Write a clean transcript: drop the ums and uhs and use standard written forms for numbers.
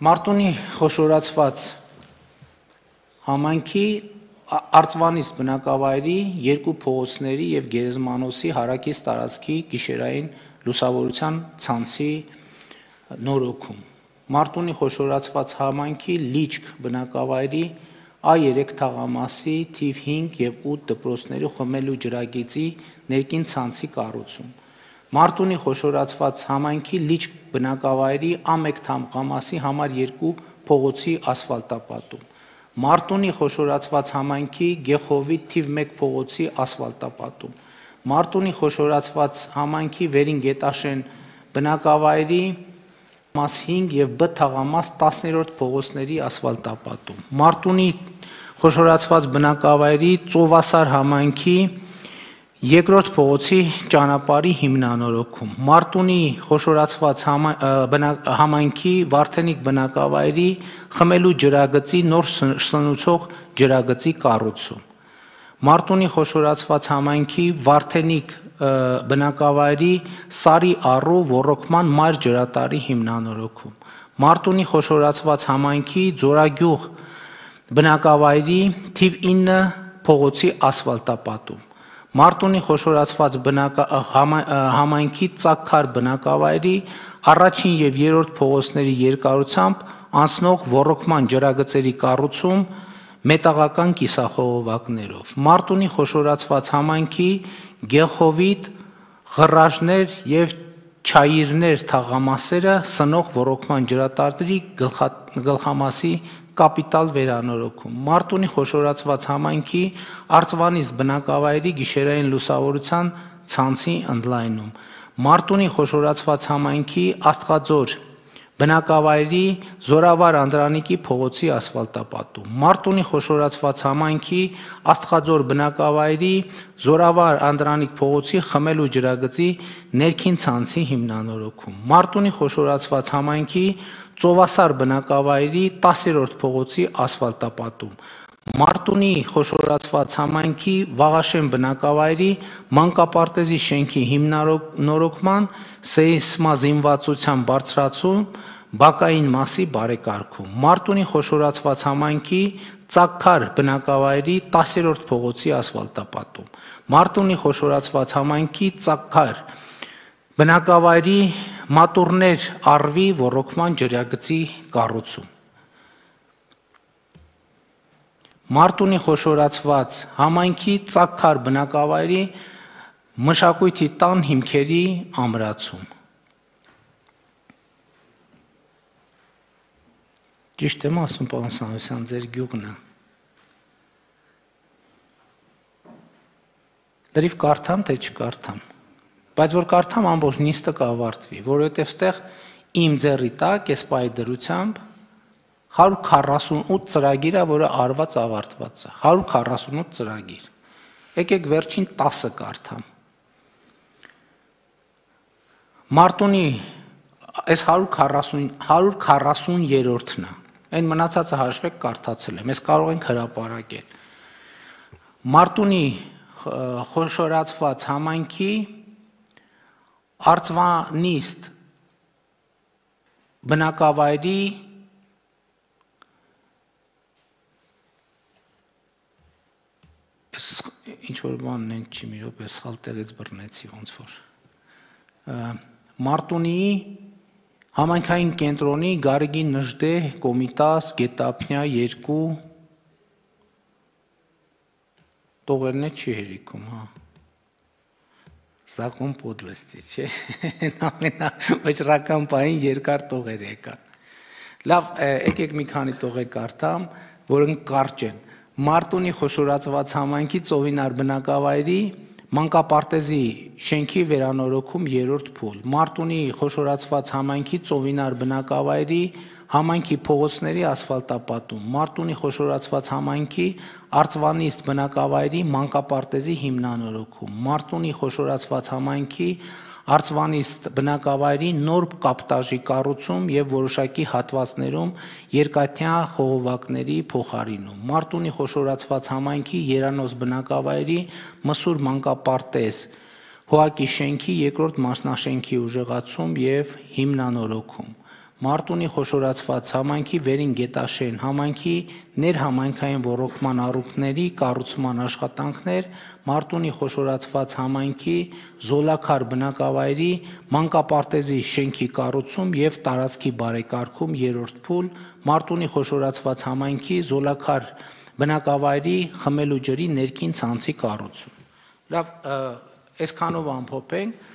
Մարտունի խոշորացված համայնքի Արծվանից բնակավայրի երկու փողոցների և Գերեզմանոցի հարակից տարածքի գիշերային լուսավորության ցանցի նորոգում, Մարտունի խոշորացված համայնքի Լիճք բնակավայրի A3 թաղամասի թիվ 5 և 8 դպրոցների խմելու ջրագիծի ներքին ցանցի կառուցում, Մարտունի խոշորացված համայնքի Լիճք բնակավայրի A1 թաղամասի համար 2 փողոցի ասֆալտապատում, Մարտունի խոշորացված համայնքի Գեխովի թիվ 1 փողոցի ասֆալտապատում, Մարտունի խոշորացված համայնքի Վերին Գետաշեն բնակավայրի մաս 5 և B թաղամաս 10-րդ փողոցների ասֆալտապատում, Մարտունի խոշորացված բնակավայրի Ծովասար համայնքի 2-րդ փողոցի ճանապարհի հիմնանորոգում, Մարտունի խոշորացված համայնքի Վարդենիկ բնակավայրի խմելու ջրագծի նոր սնուցող ջրագծի կառուցում, Մարտունի խոշորացված համայնքի Վարդենիկ բնակավայրի Սարի առու ոռոգման մայր ջրատարի հիմնանորոգում, Մարտունի խոշորացված համայնքի Ձորագյուղ բնակավայրի թիվ 9 փողոցի ասֆալտապատում, Մարտունի խոշորացված համայնքի Ծագքար բնակավայրի առաջին և երրորդ փողոցների երկարությամբ անցնող ոռոգման ջրագծերի կառուցում մետաղական կիսախողովակներով, Մարտունի խոշորացված համայնքի Գեխովիտ, Ղռաժներ և Չայիրներ թաղամասերը սնող ոռոգման ջրատարի գլխամասի կապիտալ վերանորոգում, Մարտունի խոշորացված համայնքի Արծվանից բնակավայրի գիշերային լուսավորության ցանցի ընդլայնում, Մարտունի խոշորացված համայնքի Աստղաձոր բնակավայրի Զորավար Անդրանիկի փողոցի ասֆալտապատում, Մարտունի խոշորացված համայնքի Աստղաձոր բնակավայրի Զորավար Անդրանիկ փողոցի խմելու ջրագծի ներքին ցանցի հիմնանորոգում, Մարտունի խոշորացված համայնքի Ծովասար բնակավայրի 10-րդ փողոցի ասֆալտապատում, Մարտունի խոշորացված համայնքի Վաղաշեն բնակավայրի մանկապարտեզի շենքի հիմնանորոգման սեյսմազինվածության բարձրացում բակային մասի բարեկարգում, Մարտունի խոշորացված համայնքի Ծագքար բնակավայրի 10-րդ փողոցի ասֆալտապատում, Մարտունի խոշորացված համայնքի Ծագքար բնակավայրի Մատուռներ առվի ոռոգման ջրագծի կառուցում, Մարտունի խոշորացված համայնքի Ծագքար բնակավայրի Մշակույթի տան հիմքերի ամրացում, Ճիշտ եմ ասում, պարոն Սարգսյան, ձեր գյուղն է, լրիվ կարդամ, թե չկարդամ, բայց որ կարդամ ամբողջ նիստը կավարտվի, որովհետև ստեղ իմ ձեռի տակ այս պահի դրությամբ 148 ծրագիր է, որը արված ավարտված է, 148 ծրագիր, եկեք վերջին 10-ը կարդամ, Մարտունի այս 140-րդն է, այն մնացածը հաշվեք կարդացել եմ, ես կարող ենք հրապարակել, Մարտունի խոշորացված համայնքի Արծվանիստ բնակավայրի ինչ-որ բանն են չի մի րոպե սխալ տեղից բռնեցի ոնց որ, Մարտունիի համայնքային կենտրոնի Գարեգին Նժդե Կոմիտաս Գետափնյա 2 տողերն է չի հերիքում, հա, Zakon podlesti, չէ, ամենավճռական պահին երկար տողեր եկան, լավ, եկեք մի քանի տող կարդամ, որոնք կարճ են, Մարտունի խոշորացված համայնքի Ծովինար բնակավայրի մանկապարտեզի շենքի վերանորոգում 3-րդ փուլ, Մարտունի խոշորացված համայնքի Ծովինար բնակավայրի համայնքի փողոցների ասֆալտապատում, Մարտունի խոշորացված համայնքի Արծվանիստ բնակավայրի մանկապարտեզի հիմնանորոգում, Մարտունի խոշորացված համայնքի Արծվանիստ բնակավայրի նոր կապտաժի կառուցում և որոշակի հատվածներում երկաթյա խողովակների փոխարինում, Մարտունի խոշորացված համայնքի Երանոց բնակավայրի Մսուր մանկապարտեզ Հոակի շենքի 2-րդ մասնաշենքի ուժեղացում և հիմնանորոգում, Մարտունի խոշորացված համայնքի Վերին Գետաշեն համայնքի ներհամայնքային ոռոգման առումների կառուցման աշխատանքներ, Մարտունի խոշորացված համայնքի Զոլաքար բնակավայրի մանկապարտեզի շենքի կառուցում եւ տարածքի բարեկարգում 3-րդ փուլ, Մարտունի խոշորացված համայնքի Զոլաքար բնակավայրի խմելու ջրի ներքին ցանցի կառուցում։ Լավ, այսքանով ամփոփենք,